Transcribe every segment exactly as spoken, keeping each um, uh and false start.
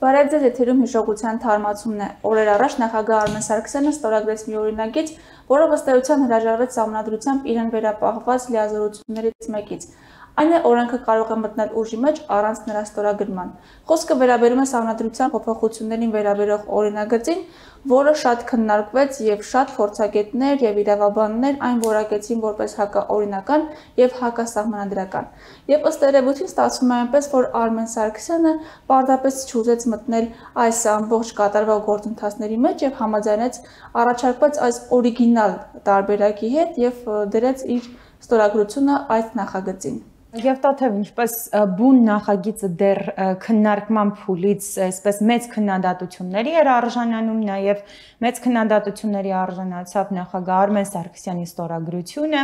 Բարև ձեզ, եթերում հիշողության թարմացումն է։ Օրեր առաջ նախագահ Արմեն Սարգսյանը ստորագրեց մի օրինագիծ, որը ըստ էության հրաժարվեց Սահմանադրությամբ իրեն վերապահված լիազորություններից մեկից։ Այն է, օրենքը կարող է մտնել ուժի մեջ առանց նրա ստորագրման։ Խոսքը վերաբերում է Սահմանադրության փոփոխություններին վերաբերող օրինագծին, որը շատ քննարկվեց եւ շատ փորձագետներ եւ իրավաբաններ այն որակեցին որպես հակաօրինական եւ հակասահմանադրական։ Եվ ըստ երևույթին ստացվում է այնպես, որ Արմեն Սարգսյանը պարզապես չուզեց մտնել այս ամբողջ կատարվող գործընթացների մեջ եւ համաձայնեց առաջարկված այս օրիգինալ տարբերակի հետ եւ դրեց իր ստորագրությունը այս նախագծին։ Եվ Տաթև, ինչպես բուն նախագիծը դեռ քննարկման փուլից այսպես մեծ քննադատությունների էր արժանանում, նաև մեծ քննադատությունների արժանացավ նախագահ Արմեն Սարգսյանի ստորագրությունը,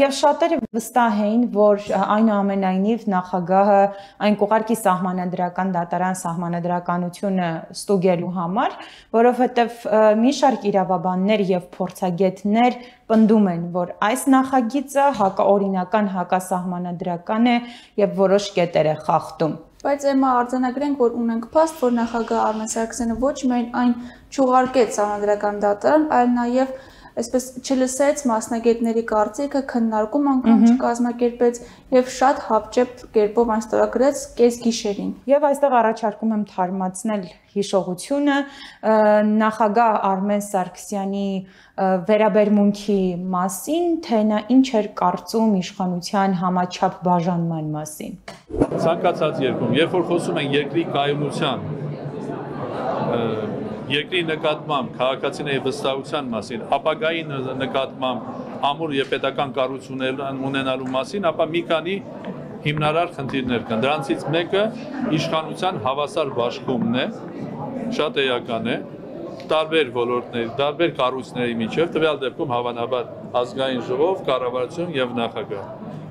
եւ շատերը վստահ էին, որ այնուամենայնիվ նախագահը այն կուղարկի սահմանադրական դատարան սահմանադրականությունը ստուգելու համար, որովհետեւ մի շարք իրավաբաններ եւ փորձագետներ պնդում են, որ այս նախագիծը հակաօրինական հակասահմանադրական է եւ որոշ կետեր է խախտում։ Բայց Էմմա արձանագրենք, որ ունենք փաստ, որ նախագահ Արմեն Սարգսյանը ոչ միայն այն չուղարկեց սահմանադրական դատարան, այլ նաեւ այսպես չլսեց մասնագետների կարծիքը, քննարկում անգամ չկազմակերպեց եւ շատ հապճեպ կերպով այն ստորագրեց կեսգիշերին։ Եվ այստեղ առաջարկում եմ թարմացնել հիշողությունը նախագահ Արմեն Սարգսյանի վերաբերմունքի մասին, թե նա ինչ էր կարծում իշխանության համաչափ բաժանման մասին։ Ցանկացած երկրում, երբ որ խոսում են երկրի կայունության, երկրի նկատմամբ քաղաքացիների վստահության մասին, ապագայի նկատմամբ ամուր եւ պետական կառույցներ ունենալու մասին, ապա մի քանի հիմնարար խնդիրներ կան։ Դրանցից մեկը իշխանության հավասար բաշխումն է, շատ էական է, տարբեր ոլորտների, տարբեր կառույցների միջև, տվյալ դեպքում հավանաբար ազգային ժողով, կառավարություն եւ նախագահ։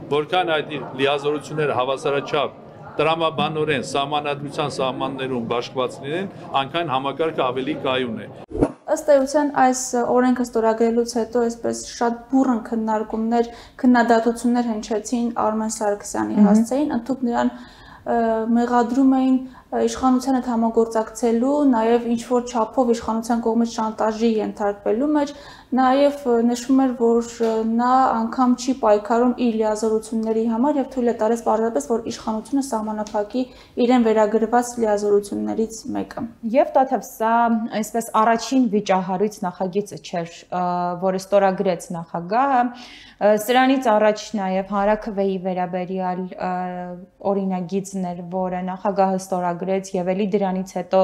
Որքան այդ լիազորությունները հավասարաչափ տրամաբանորեն սահմանադրության սահմաններում բաշխված լինեն, այնքան համակարգը ավելի կայուն է։ Ըստ էության այս օրենքը ստորագրելուց հետո այսպես շատ բուռն քննարկումներ, քննադատություններ հնչեցին Արմեն Սարգսյանի հասցեին, ընդհանուր նրան մեղադրում էին իշխանության հետ համագործակցելու, նաև ինչ-որ չափով իշխանության կողմից շանտաժի ենթարկվելու մեջ, նաև նշվում էր, որ նա անգամ չի պայքարում իր լիազորությունների համար եւ թույլ է տալիս պարզապես, որ իշխանությունը սահմանափակի իրեն վերագրված լիազորություններից մեկը։ Եվ Տաթև, սա այսպես առաջին վիճահարույց նախագիծը չէր, որը ստորագրեց նախագահը, սրանից առաջ նաև Հանրաքվեի վերաբերյալ օրինագիծն էր, որը նախագահը ստորագրեց եւ ելի դրանից հետո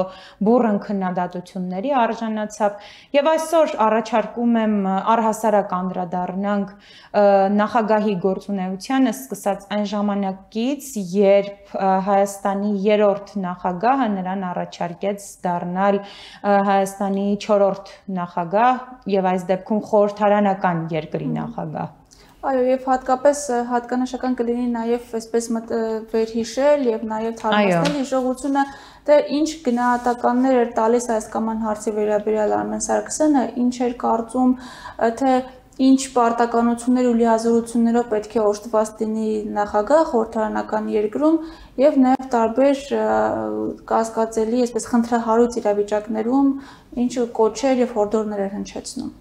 բուռն քննադատությունների արժանացավ եւ այսօր առաջարկում եմ առհասարակ անդրադառնանք նախագահի գործունեությանը սկսած այն ժամանակից, երբ Հայաստանի երրորդ նախագահը նրան առաջարկեց դառնալ Հայաստանի չորրորդ նախագահ եւ այս դեպքում խորհրդարանական երկրի նախագահ։ Այո, եւ հատկապես հատկանշական կլինի նաեւ այսպես վերհիշել եւ նաեւ թարմացնել հիշողությունը, թե ինչ գնահատականներ էր տալիս այս կամ այն հարցի վերաբերյալ Արմեն Սարգսյանը, ինչ էր կարծում, թե ինչ պարտականություններ ու լիազորություններով պետք է օժտված լինի նախագահ խորհրդարանական երկրում եւ նաեւ տարբեր կասկածելի, այսպես խնդրահարույց իրավիճակներում ինչ կոչեր եւ հորդորներ էր հնչեցնում։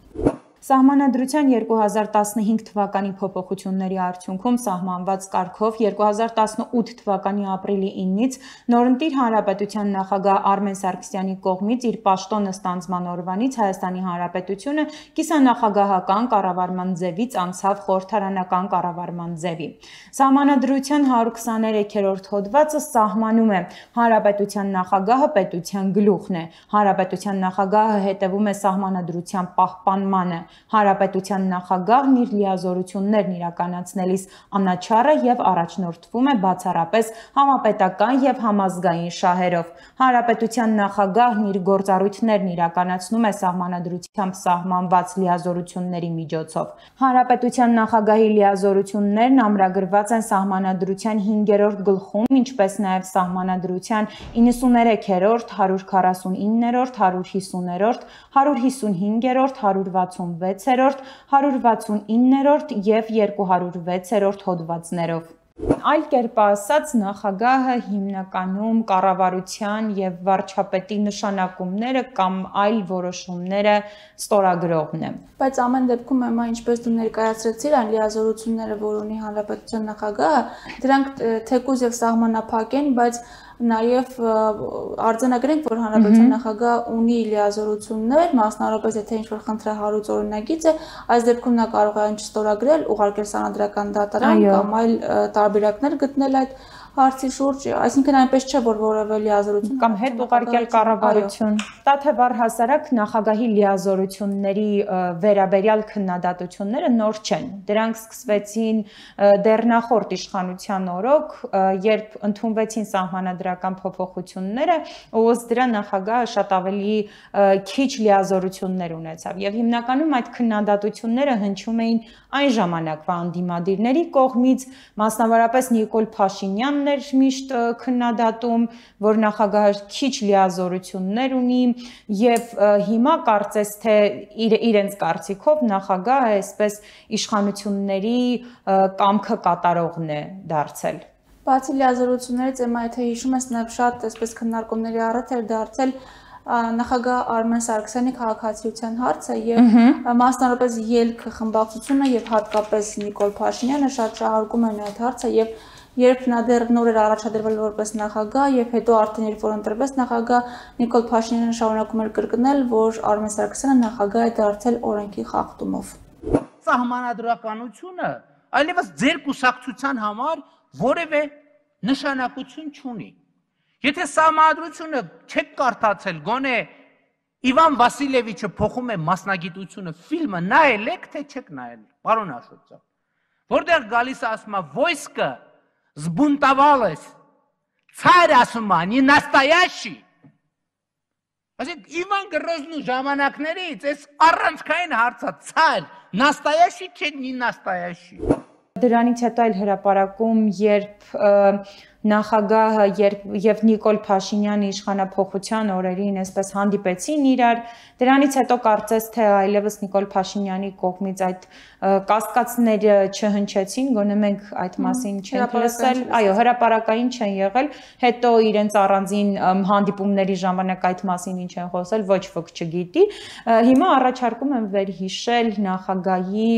Սահմանադրության երկու հազար տասնհինգ թվականի փոփոխությունների արդյունքում սահմանված կարգով երկու հազար տասնութ թվականի ապրիլի իննից նորընտիր հանրապետության նախագահ Արմեն Սարգսյանի կողմից իր պաշտոնը ստանձնման օրվանից Հայաստանի Հանրապետությունը կիսանախագահական կառավարման ձևից անցավ խորհրդարանական կառավարման ձևի։ Սահմանադրության հարյուր քսաներեքերորդ հոդվածը սահմանում է հանրապետության նախագահը պետության գլուխն է, հանրապետության նախագահը հետևում է սահմանադրության պահպանմանը, հանրապետության նախագահն իր լիազորություններն իրականացնելիս անաչառ է եւ առաջնորդվում է բացառապես համապետական եւ համազգային շահերով։ Հանրապետության նախագահն իր գործառույթներն իրականացնում է սահմանադրությամբ սահմանված լիազորությունների միջոցով։ Հանրապետության նախագահի լիազորություններն ամրագրված են սահմանադրության հինգերորդ գլխում, ինչպես նաեւ սահմանադրության իննսուներեքերորդ, հարյուր քառասունիններորդ, հարյուր հիսուներորդ, հարյուր հիսունհինգերորդ, հարյուր վաթսունվեցերորդ, հարյուր վաթսունիններորդ եւ երկու հարյուր վեցերորդ հոդվածներով։ Այլ կերպ ասած, նախագահը հիմնականում կառավարության եւ վարչապետի նշանակումները կամ այլ որոշումները ստորագրողն է։ Բայց ամեն դեպքում եմա ինչպես դու ներկայացրեցիր, այն լիազորությունները, որ ունի հանրապետության նախագահը, դրանք թեկուզ եւ սահմանափակ են, բայց նաև արձանագրենք, որ հանրապետության նախագահը ունի լիազորություններ, մասնավորապես եթե ինչ-որ խնդրահարույց օրինագիծ է, այս դեպքում նա կարող է այն չստորագրել, ուղարկել սահմանադրական դատարան կամ այլ տարբերակներ գտնել այդ հարցի շուրջ, այսինքն այնպես չէ, որ որևէ լիազորություն կամ հետ ուղարկել կառավարություն։ Դա թե առհասարակ նախագահի լիազորությունների վերաբերյալ քննադատությունները նոր չեն։ Դրանք սկսվեցին դեռ նախորդ իշխանության օրոք, երբ ընդունվեցին սահմանադրական փոփոխությունները, ըստ դրա նախագահը շատ ավելի քիչ լիազորություններ ունեցավ։ Եվ հիմնականում այդ քննադատությունները հնչում էին այն ժամանակվա անդիմադիրների կողմից, մասնավորապես Նիկոլ Փաշինյանն էր միշտ քննադատում, որ նախագահը քիչ լիազորություններ ունի եւ հիմա կարծես թե իր, իրենց կարծիքով նախագահը այսպես իշխանությունների կամքը կատարողն է դարձել։ Բացի լիազորություններից, եմա եթե հիշում ես, նաև շատ այսպես քննարկումների առիթ էր դարձել նախագահ Արմեն Սարգսյանի քաղաքացիության հարցը եւ մասնավորապես ելք խմբակցությունը եւ հատկապես Նիկոլ Փաշինյանը շատ շահարկում են այդ հարցը եւ երբ նա դեռ նոր էր առաջադրվել որպես նախագահ եւ հետո արդեն երբ որ ընտրվեց նախագահ, Նիկոլ Փաշինյանը շարունակում էր կրկնել, որ Արմեն Սարգսյանը նախագահ է դարձել օրենքի խախտումով։ Սահմանադրականությունը այլևս ձեր կուսակցության համար որևէ նշանակություն չունի։ Եթե սահմանադրությունը չեք կարդացել, գոնե Իվան Վասիլևիչը փոխում է մասնագիտությունը, ֆիլմը նայել եք, թե չեք նայել, պարոն Աշոտյան։ Որտեղ գալիս է ասում է «Войско сбунтовалось, царь ասում է, не настоящий»։ Այսինքն Իվան Գրոզնու ժամանակներից այս առանցքային հարցը «Царь настоящий չէ, не настоящий»։ Դրանից հետո այլ հրապարակում, երբ նախագահը եւ Նիկոլ Փաշինյանը իշխանափոխության օրերին այսպես հանդիպեցին իրար, դրանից հետո կարծես թե այլևս Նիկոլ Փաշինյանի կողմից այդ կասկածները չհնչեցին, գոնե մենք այդ մասին չենք լսել, այո, հրապարակային չեն եղել, հետո իրենց առանձին հանդիպումների ժամանակ այդ մասին ինչ են խոսել, ոչ ոք չգիտի։ Հիմա առաջարկում եմ վերհիշել նախագահի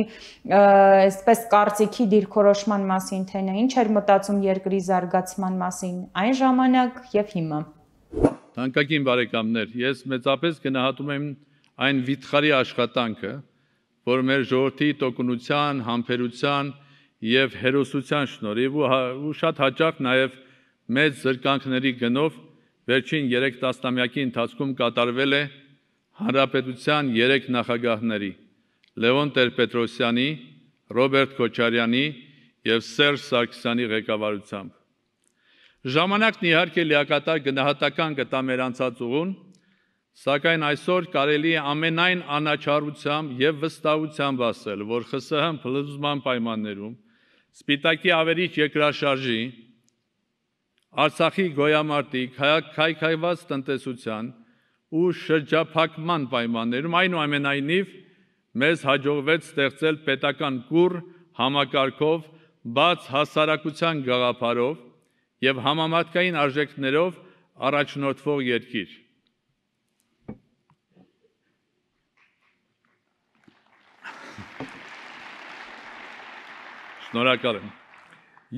այսպես կարծիքի դիրքորոշման մասին, թե նա ինչ էր մտածում երկրի զարգացման մասին այն ժամանակ եւ հիմա։ Թանկագին բարեկամներ, ես մեծապես գնահատում եմ այն վիթխարի աշխատանքը, որ մեր ժողովրդի տոկունության, համբերության եւ հերոսության շնորհիվ ու շատ հաճախ նաեւ մեծ զրկանքների գնով վերջին երեք տասնամյակի ընթացքում կատարվել է հանրապետության երեք նախագահների՝ Լևոն Տեր-Պետրոսյանի, Ռոբերտ Քոչարյանի եւ Սերժ Սարգսյանի ղեկավարությամբ։ Ժամանակն իհարկե լիակատար գնահատական կտա մեր անցած ուղուն, սակայն այսօր կարելի է ամենայն անաչառությամբ եւ վստահությամբ ասել, որ ԽՍՀՄ փլուզման պայմաններում Սպիտակի ավերիչ երկրաշարժի, Արցախի գոյամարտի, քայքայված տնտեսության ու շրջափակման պայմաններում այնուամենայնիվ մեզ հաջողվեց ստեղծել պետական կուռ համակարգով, բաց հասարակության գաղափարով եւ համամարտկային արժեքներով առաջնորդվող երկիր։ Շնորհակալ եմ։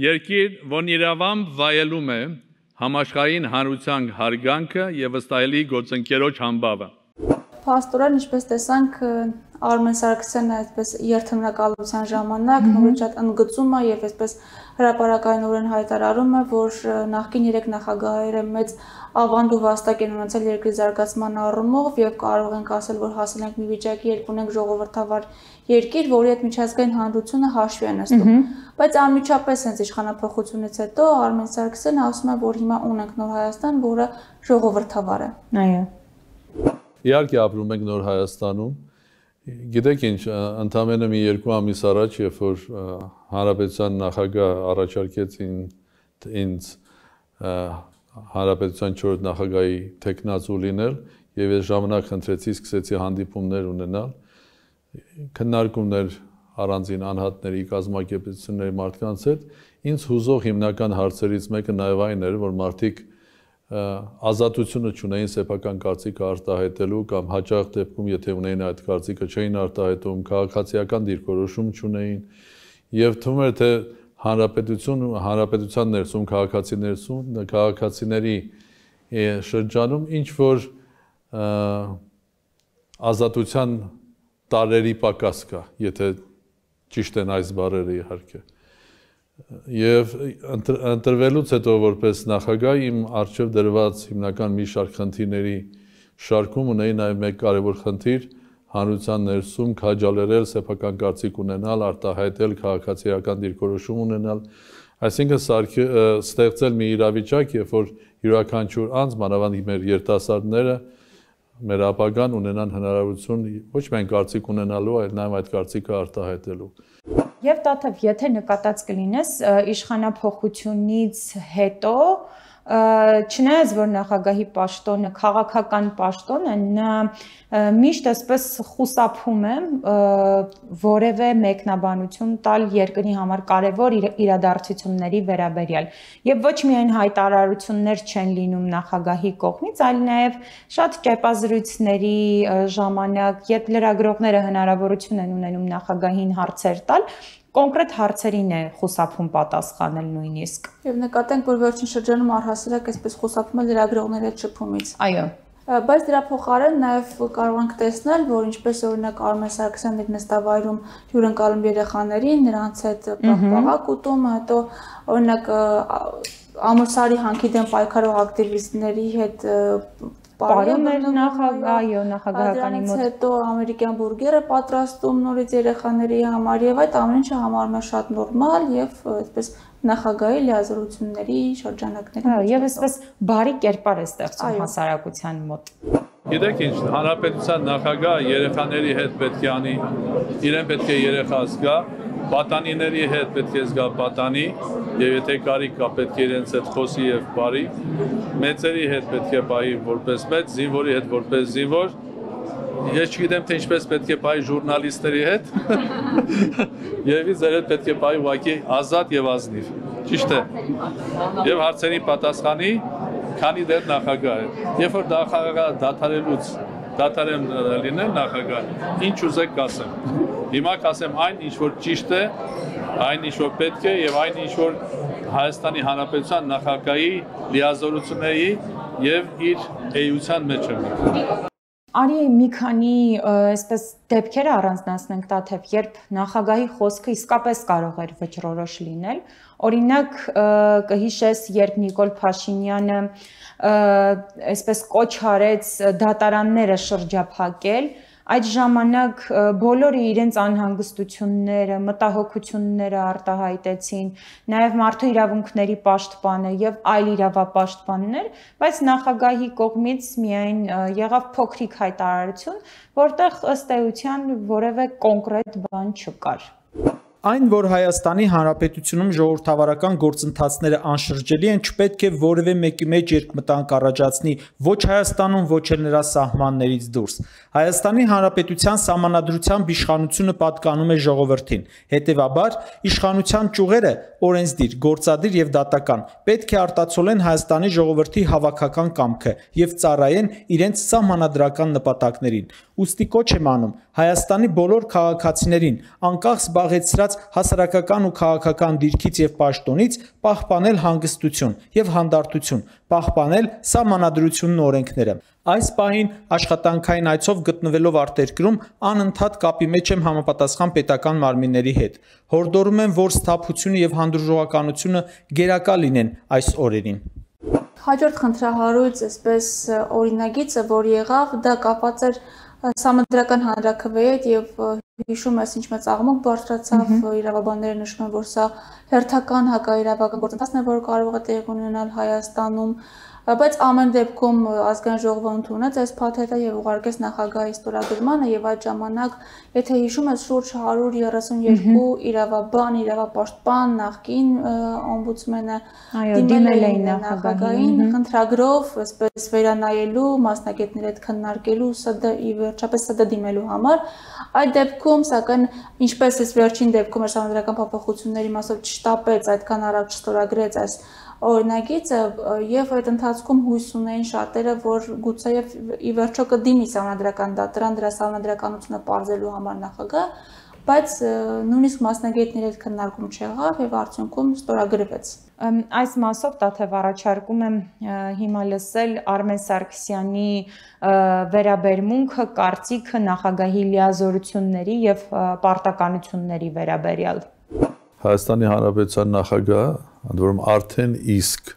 Երկիր, որն իրավամբ վայելում է համաշխարհային հանրության հարգանքը եւ վստահելի գործընկերոջ համբավը։ Փաստորեն, ինչպես տեսանք, Արմեն Սարգսյանը այսպես երթմնակալության ժամանակ նորից շատ ընդգծում է եւ այսպես հրապարակայնորեն հայտարարում է, որ նախկին երեք նախագահները մեծ ավանդ ու վաստակ են ունեցել երկրի զարգացման առումով եւ կարող ենք ասել, որ հասել ենք մի վիճակի, երբ ունենք ժողովրդավար երկիր, որի հետ միջազգային հանրությունը հաշվի է նստում։ Բայց անմիջապես հենց իշխանափոխությունից հետո Արմեն Սարգսյանը ասում է, որ հիմա ունենք նոր Հայաստան, որը ժողովրդավար է։ Այո։ Իհարկե ապրում ենք նոր Հայաստանում։ Գիտեք ինչ, ընդամենը մի երկու ամիս առաջ, երբ որ հանրապետության նախագահ առաջարկեց ինձ հանրապետության չորրորդ նախագահի թեկնածու լինել, եւ ես ժամանակ խնդրեցի, սկսեցի հանդիպումներ ունենալ, քննարկումներ առանձին անհատների կազմակերպությունների մարդկանց հետ, ինձ հուզող հիմնական հարցերից մեկը նաև այն էր, որ մարդիկ ազատությունը չունեին սեփական կարծիքը արտահայտելու կամ հաճախ դեպքում, եթե ունեին այդ կարծիքը, չէին արտահայտում, քաղաքացիական դիրքորոշում չունեին, եւ թվում էր, թե հանրապետություն, հանրապետության ներսում, քաղաքացի ներսում, քաղաքացիների շրջանում ինչ որ ազատության տարերի պակաս կա, եթե ճիշտ են այս բառերը իհարկե։ Եվ ընտրվելուց հետո որպես նախագահ իմ առջև դրված հիմնական մի շարք խնդիրների շարքում ունեի նաև մեկ կարևոր խնդիր հանրության ներսում քաջալերել սեփական կարծիք ունենալ, արտահայտել քաղաքացիական դիրքորոշում ունենալ, այսինքն սարքի ստեղծել մի իրավիճակ, երբ որ յուրաքանչյուր անձ, մանավանդ մեր երիտասարդները, մեր ապագան ունենան հնարավորություն ոչ միայն կարծիք ունենալու, այլ նաև այդ կարծիքը արտահայտելու։ Եվ Տաթև, եթե նկատած կլինես իշխանափոխությունից հետո, չնայած որ նախագահի պաշտոնը քաղաքական պաշտոն է, նա միշտ այսպես խուսափում է որևէ մեկնաբանություն տալ երկրի համար կարևոր իրադարձությունների վերաբերյալ։ Եվ ոչ միայն հայտարարություններ չեն լինում նախագահի կողմից, այլ նաև շատ ճեպազրույցների ժամանակ, երբ լրագրողները հնարավորություն են ունենում նախագահին հարցեր տալ, կոնկրետ հարցերին է խուսափում պատասխանել նույնիսկ։ Եվ նկատենք, որ վերջին շրջանում առհասարակ այսպես խուսափում է լրագրողների այդ շփումից։ Այո։ Բայց դրա փոխարեն նաև կարող ենք տեսնել, որ ինչպես օրինակ Արմեն Սարգսյանն իր նստավայրում հյուրընկալում երեխաներին, նրանց հետ պաղպաղակ ուտում, հետո օրինակ Ամուր հանքի դեմ պայքարող ակտիվիստների հետ Պարում էր նախագահ, նախագահականի մոտ։ Դրանից հետո ամերիկյան բուրգեր է պատրաստում նորից երեխաների համար եւ այդ ամեն ինչը համարում է շատ նորմալ եւ այսպես նախագահի լիազորությունների շրջանակների։ Եվ այսպես բարի կերպար է ստեղծում հասարակության մոտ։ Գիտեք ինչ, հանրապետության նախագահը երեխաների հետ պետք է անի, իրեն պետք է երեխա զգա, պատանիների հետ պետք է զգա պատանի, եւ եթե կարիք կա պետք է իրենց հետ խոսի եւ բարի, մեծերի հետ պետք է պահի որպես մեծ, զինվորի հետ որպես զինվոր, ես չգիտեմ թե ինչպես պետք է պահի ժուրնալիստների հետ, եւ ձեր հետ պետք է պահի ուղղակի ազատ եւ ազնիվ, ճիշտ է, եւ հարցերի պատասխանի, քանի դեռ նախագահ է, երբ որ նախագահ դադարելուց դադարեմ լինել նախագահ, ինչ ուզեք կասեմ, հիմա կասեմ այն, ինչ որ ճիշտ է, այն ինչ որ պետք է եւ այն ինչ որ Հայաստանի Հանրապետության նախագահի լիազորությունների եւ իր էության մեջ է։ Արի մի քանի այսպես դեպքեր առանձնացնենք Տաթև, երբ նախագահի խոսքը իսկապես կարող էր վճռորոշ լինել։ Օրինակ կհիշես, երբ Նիկոլ Փաշինյանը այսպես կոչ արեց դատարանները շրջափակել, այդ ժամանակ բոլորը իրենց անհանգստությունները, մտահոգությունները արտահայտեցին, նաև մարդու իրավունքների պաշտպանը եւ այլ իրավապաշտպաններ, բայց նախագահի կողմից միայն եղավ փոքրիկ հայտարարություն, որտեղ ըստ էության որևէ կոնկրետ բան չկար։ Այն, որ Հայաստանի Հանրապետությունում ժողովրդավարական գործընթացները անշրջելի են, չպետք է որևէ մեկի մեջ երկմտանք առաջացնի ոչ Հայաստանում, ոչ էլ նրա սահմաններից դուրս։ Հայաստանի Հանրապետության սահմանադրությամբ իշխանությունը պատկանում է ժողովրդին։ Հետևաբար, իշխանության ճյուղերը օրենսդիր, գործադիր եւ դատական պետք է արտացոլեն Հայաստանի ժողովրդի հավաքական կամքը եւ ծառայեն իրենց սահմանադրական նպատակներին։ Ուստի կոչ եմ անում Հայաստանի բոլոր քաղաքացիներին, անկախ զբաղեցրած հասարակական ու քաղաքական դիրքից եւ պաշտոնից, պահպանել հանգստություն եւ հանդարտություն, պահպանել սահմանադրությունն ու օրենքները։ Այս պահին աշխատանքային այցով գտնվելով արտերկրում անընդհատ կապի մեջ եմ համապատասխան պետական մարմինների հետ։ Հորդորում եմ, որ սթափությունը եւ հանդուրժողականությունը գերակա լինեն այս օրերին։ Հաջորդ խնդրահարույց այսպես օրինագիծը, որ եղավ, դա կապված էր Սահմանադրական հանրաքվեի հետ եւ հիշում ես ինչ մեծ աղմուկ բարձրացավ, իրավաբանները նշում են, որ սա հերթական հակաիրավական գործընթացն է, որը կարող է տեղի ունենալ Հայաստանում, Բայց ամեն դեպքում ազգային ժողովը ընդունեց այս փաթեթը եւ ուղարկեց նախագահի ստորագրմանը եւ այդ ժամանակ, եթե հիշում եք, շուրջ հարյուր երեսունյոթ իրավաբան, իրավապաշտպան, նախկին օմբուդսմենը դիմել էին նախագահին, խնդրագրով, այսպես վերանայելու, մասնագետների հետ քննարկելու, ՍԴ ի վերջապես ՍԴ դիմելու համար։ Այդ դեպքում, սակայն, ինչպես այս վերջին դեպքում սահմանադրական փոփոխությունների մասով չշտապեց, այդքան արագ չստորագրեց այս օրինագիծը եւ այդ ընթացքում հույս ունեին շատերը, որ գուցեև ի վերջո կդիմի սահմանադրական դատարան դրա սահմանադրականությունը պարզելու համար նախագահ, բայց նույնիսկ մասնագետների հետ քննարկում չեղավ եւ արդյունքում ստորագրվեց։ Այս մասով Տաթև առաջարկում եմ հիմա լսել Արմեն Սարգսյանի վերաբերմունքը, կարծիքը նախագահի լիազորությունների եւ պարտականությունների վերաբերյալ։ Հայաստանի Հանրապետության նախագահը, ընդ որում արդեն իսկ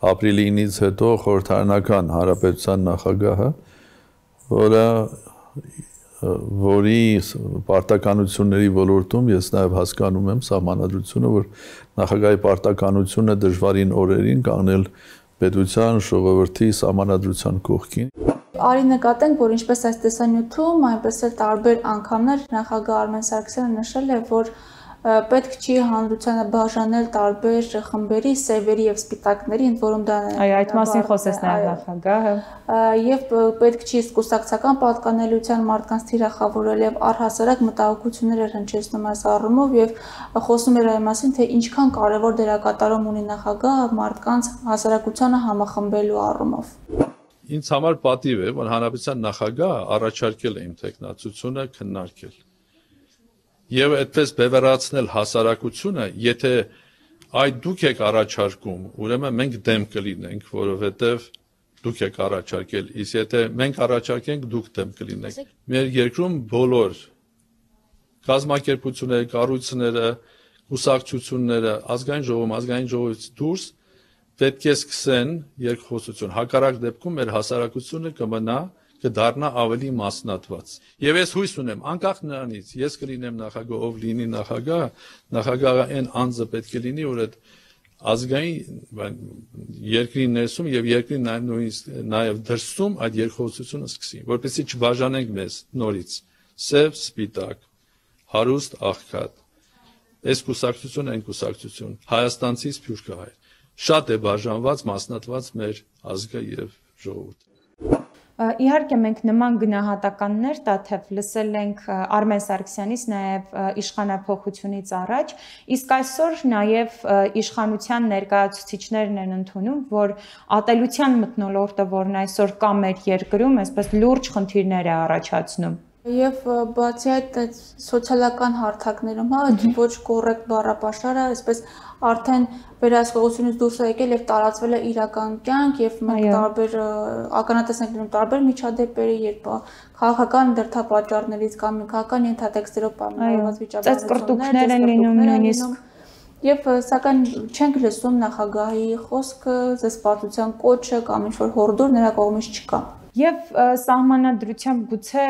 ապրիլի ինից հետո խորհրդարանական հանրապետության նախագահը, որը որի պարտականությունների ոլորտում ես նաև հասկանում եմ սահմանադրությունը, որ նախագահի պարտականությունը դժվարին օրերին կանգնել պետության, ժողովրդի սահմանադրության կողքին։ Արի նկատենք, որ ինչպես այս տեսանյութում, այնպես էլ տարբեր անգամներ նախագահ Արմեն Սարգսյանը նշել է, որ պետք չի հանրությանը բաժանել տարբեր խմբերի, սևերի եւ սպիտակների, ընդ որում դա Այո, այդ մասին խոսեց նաեւ նախագահը։ Եվ պետք չի կուսակցական պատկանելիության մարդկանց թիրախավորել եւ առհասարակ մտահոգություններ էր հնչեցնում այս առումով եւ խոսում էր այն մասին, թե ինչքան կարեւոր դերակատարում ունի նախագահը մարդկանց հասարակությանը համախմբելու առումով։ Ինձ համար պատիվ է, որ հանրապետության նախագահը առաջարկել է իմ տեխնացությունը քննարկել։ Եվ այդպես բևեռացնել հասարակությունը, եթե այդ դուք եք առաջարկում, ուրեմն մենք դեմ կլինենք, որովհետև դուք եք առաջարկել, իսկ եթե մենք առաջարկենք, դուք դեմ կլինեք։ Մեր երկրում բոլոր կազմակերպությունները, կառույցները, կուսակցությունները, ազգային ժողովում, ազգային ժողովից դուրս պետք է սկսեն երկխոսություն։ Հակառակ դեպքում մեր հասարակությունը կմնա կդառնա ավելի մասնատված։ Եվ ես հույս ունեմ, անկախ նրանից, ես կլինեմ նախագահ, ով լինի նախագահ, նախագահը այն անձը պետք է լինի, որ այդ ազգային երկրի ներսում եւ երկրի նաեւ դրսում այդ երկխոսությունը սկսի, որպեսզի չբաժանենք մեզ նորից սև, սպիտակ, հարուստ, աղքատ, այս կուսակցություն, այն կուսակցություն, հայաստանցի սփյուռքահայ։ Շատ է բաժանված, մասնատված մեր ազգը եւ ժողովուրդը։ Իհարկե մենք նման գնահատականներ Տաթև լսել ենք Արմեն Սարգսյանից նաև իշխանափոխությունից առաջ, իսկ այսօր նաև իշխանության ներկայացուցիչներն են ընդունում, որ ատելության մթնոլորտը, որն այսօր կա մեր երկրում, այսպես լուրջ խնդիրներ է առաջացնում։ Եվ բացի այդ սոցիալական հարթակներում, հա, ոչ կոռեկտ բառապաշարը, այսպես արդեն վերահսկողությունից դուրս է եկել եւ տարածվել է իրական կյանք եւ մենք տարբեր ականատես ենք լինում տարբեր միջադեպերի, երբ քաղաքական դրդապատճառներից կամ քաղաքական ենթատեքստերով պայմանավորված վիճակագրություններ են լինում նույնիսկ եւ սակայն չենք լսում նախագահի խոսքը, զսպվածության կոչը կամ ինչ-որ հորդոր նրա կողմից չկա։ Եվ սահմանադրությամբ գուցե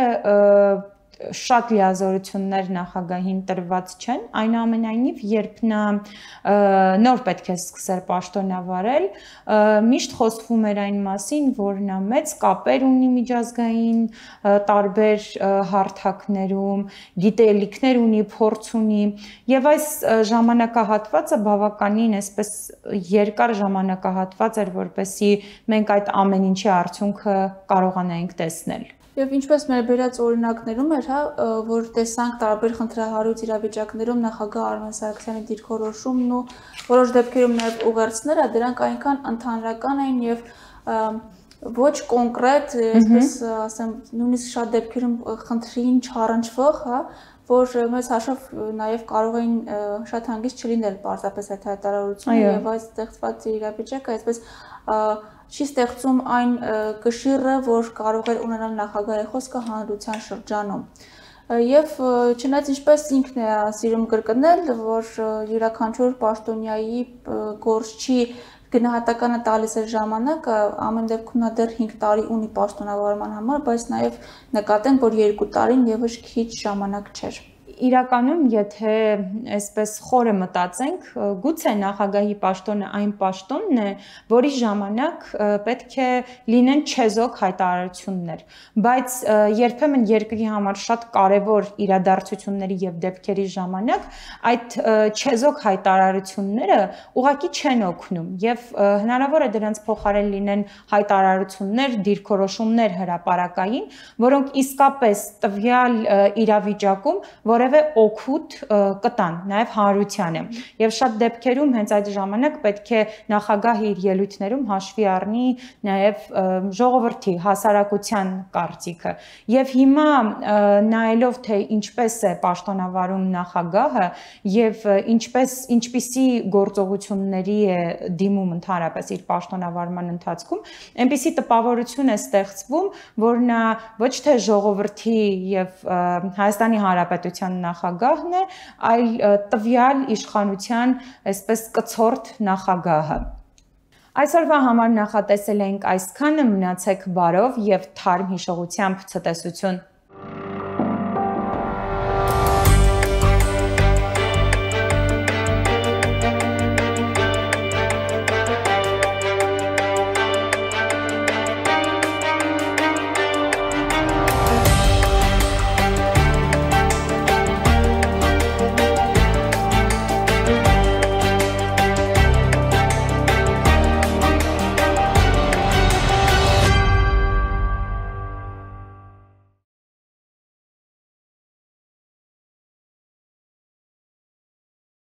շատ լիազորություններ նախագահին տրված չեն, այնուամենայնիվ երբ նա նոր պետք է սկսեր պաշտոնավարել, միշտ խոսվում էր այն մասին, որ նա մեծ կապեր ունի միջազգային տարբեր հարթակներում, գիտելիքներ ունի, փորձ ունի, եւ այս ժամանակահատվածը բավականին այսպես երկար ժամանակահատված էր, որպեսզի մենք այդ ամեն ինչի արդյունքը կարողանայինք տեսնել։ Եվ ինչպես մեր բերած օրինակներում էր, հա, որ տեսանք տարբեր խնդրահարույց իրավիճակներում նախագահ Արմեն Սարգսյանի դիրքորոշումն ու որոշ դեպքերում նաև ուղերձները, դրանք այնքան ընդհանրական էին եւ ոչ կոնկրետ, այսպես ասեմ, նույնիսկ շատ դեպքերում խնդրին չառնչվող, հա, որ մեծ հաշվով նաև կարող էին շատ հանգիստ չլինել պարզապես այդ հայտարարությունը եւ այս ստեղծված իրավիճակը, այսպես չի ստեղծում այն կշիռը, որ կարող էր ունենալ նախագահի խոսքը հանրության շրջանում։ Եվ չնայած ինչպես ինքն է սիրում կրկնել, որ յուրաքանչյուր պաշտոնյայի գործչի գնահատականը տալիս էր ժամանակը, ամեն դեպքում նա դեռ հինգ տարի ունի պաշտոնավարման համար, բայց նաև նկատենք, որ երկու տարին եւս քիչ ժամանակ չէր։ իրականում, եթե այսպես խորը մտածենք, գուցե նախագահի պաշտոնը այն պաշտոնն է, որի ժամանակ պետք է լինեն չեզոք հայտարարություններ, բայց երբեմն երկրի համար շատ կարևոր իրադարձությունների եւ դեպքերի ժամանակ այդ չեզոք հայտարարությունները ուղղակի չեն օգնում եւ հնարավոր է դրանց փոխարեն լինեն հայտարարություններ, դիրքորոշումներ հրապարակային, որոնք իսկապես տվյալ իրավիճակում որևէ օգուտ կտան նաև հանրությանը եւ շատ դեպքերում հենց այդ ժամանակ պետք է նախագահը իր ելույթներում հաշվի առնի նաև ժողովրդի հասարակության կարծիքը եւ հիմա նայելով թե ինչպես է պաշտոնավարում նախագահը եւ ինչպես ինչպիսի գործողությունների է դիմում ընդհանրապես իր պաշտոնավարման ընթացքում այնպիսի տպավորություն է ստեղծվում որ նա ոչ թե ժողովրդի եւ Հայաստանի Հանրապետության նախագահն է, այլ տվյալ իշխանության այսպես կցորդ նախագահը։ Այսօրվա համար նախատեսել ենք այսքանը, մնացեք բարով եւ թարմ հիշողությամբ ցտեսություն։